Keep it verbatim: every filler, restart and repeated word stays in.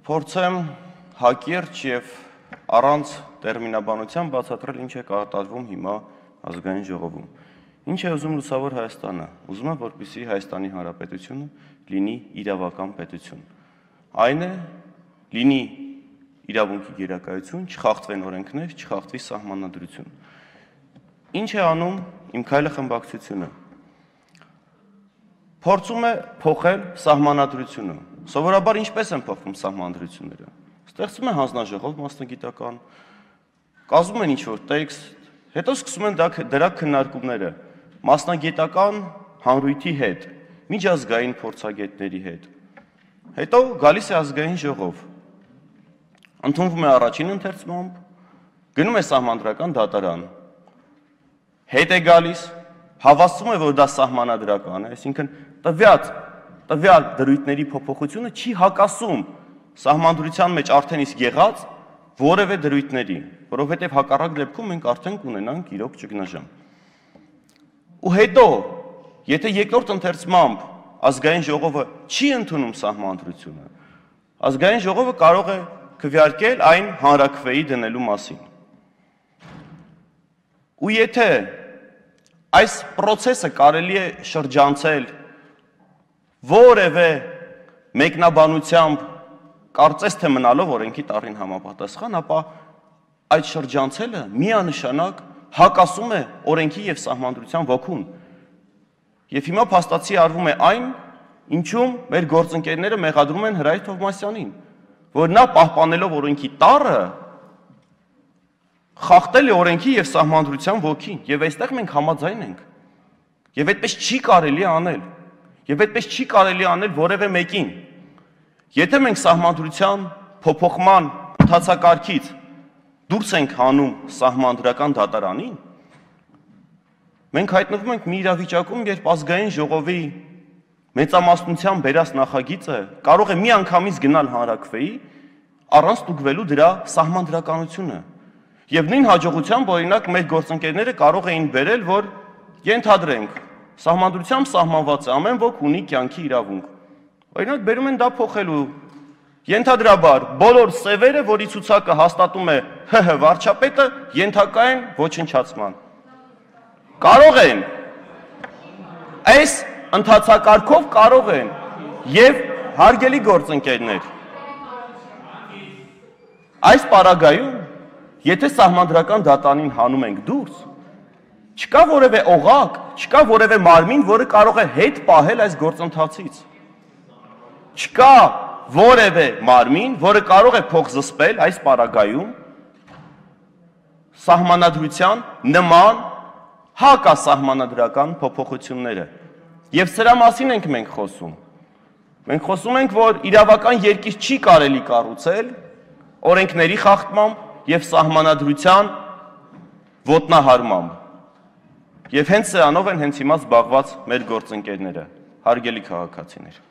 Փորձեմ հակիրճ եւ առանց տերմինաբանության բացատրել ինչ է կատարվում հիմա ազգային ժողովում։ Ինչ է ուզում լուսավոր Հայաստանը։ Ուզում է, որպեսզի Հայաստանի Հանրապետությունը լինի իրավական պետություն։ Այն է, լինի իրավունքի գերակայություն, չխախտվեն օրենքներ, չխախտվի սահմանադրություն։ Ինչ է անում իմ քայլը խմբակցությունը։ Փորձում է փոխել սահմանադրությունը։ Սովորաբար ինչպես են փոխվում սահմանադրությունները։ Ստեղծում են հանձնաժողով մասնագիտական, կազմում են ինչ-որ տեքստ, հետո սկսում են դրա քննարկումները մասնագիտական հանրույթի հետ, միջազգային փորձագետների հետ։ Հետո գալիս է ազգային ժողով, ընդունվում է առաջին ընթերցմամբ, գնում է սահմանադրական դատարան, հետ է գալիս, հավաստում է, որ դա սահմանադրական է, այսինքն տվյալ տվյալ դրույթների փոփոխությունը չի հակասում սահմանադրության մեջ արդեն իսկ եղած որևէ դրույթների, որովհետև հակառակ դեպքում մենք արդեն կունենանք իրոք ճգնաժամ։ Ու հետո, եթե երկրորդ ընթերցմամբ ազգային ժողովը չի ընդունում սահմանադրությունը, ազգային ժողովը կարող է քվեարկել այն հանրաքվեի դնելու մասին։ Ու եթե այս process-ը կարելի է շրջանցել որևէ մեկնաբանությամբ կարծես թե մնալով օրենքի տառին համապատասխան, ապա այդ շրջանցելը միանշանակ հակասում է օրենքի եւ սահմանադրության ոգուն։ Եվ հիմա փաստացի արվում է այն, ինչում մեր գործընկերները մեղադրում են Հրայր Թովմասյանին, որ նա պահպանելով օրենքի տառը խախտել է օրենքի եւ սահմանադրության ոգին, եւ այստեղ մենք համաձայն ենք։ Եվ այդպես չի կարելի անել։ Եվ այդպես չի կարելի անել որևէ մեկին։ Եթե մենք սահմանադրության փոփոխման ընթացակարգից դուրս ենք հանում սահմանադրական դատարանին, մենք հայտնվում ենք մի իրավիճակում, երբ ազգային ժողովի մեծամասնության բերած նախագիծը կարող է միանգամից գնալ հանրաքվեի առանց ստուգվելու դրա սահմանադրականությունը։ Եվ նույն հաջողությամբ օրինակ մեր գործընկերները կարող էին բերել, որ ենթադրենք սահմանադրությամբ սահմանված է, ամեն ոք ունի կյանքի իրավունք։ Օրինակ բերում են դա փոխելու։ Ենթադրաբար բոլոր սևերը, որի ցուցակը հաստատում է ՀՀ վարչապետը, ենթակա են ոչնչացման։ Կարող են։ Այս ընթացակարգով կարող են եւ հարգելի գործընկերներ։ Այս պարագայում, եթե սահմանադրական դատարանին հանում ենք դուրս, չկա որևէ օղակ, չկա որևէ մարմին, որը կարող է հետ պահել այս գործընթացից։ Չկա որևէ մարմին, որը կարող է փոխզսպել այս պարագայում սահմանադրության նման հակասահմանադրական փոփոխությունները։ Եվ սրա մասին ենք մենք խոսում։ Մենք խոսում ենք, որ իրավական երկիր չի կարելի կառուցել օրենքների խախտմամբ եւ սահմանադրության ոտնահարմամբ։ Եվ հենց սրանով են հենց հիմա զբաղված մեր գործընկերները, հարգելի քաղաքացիներ։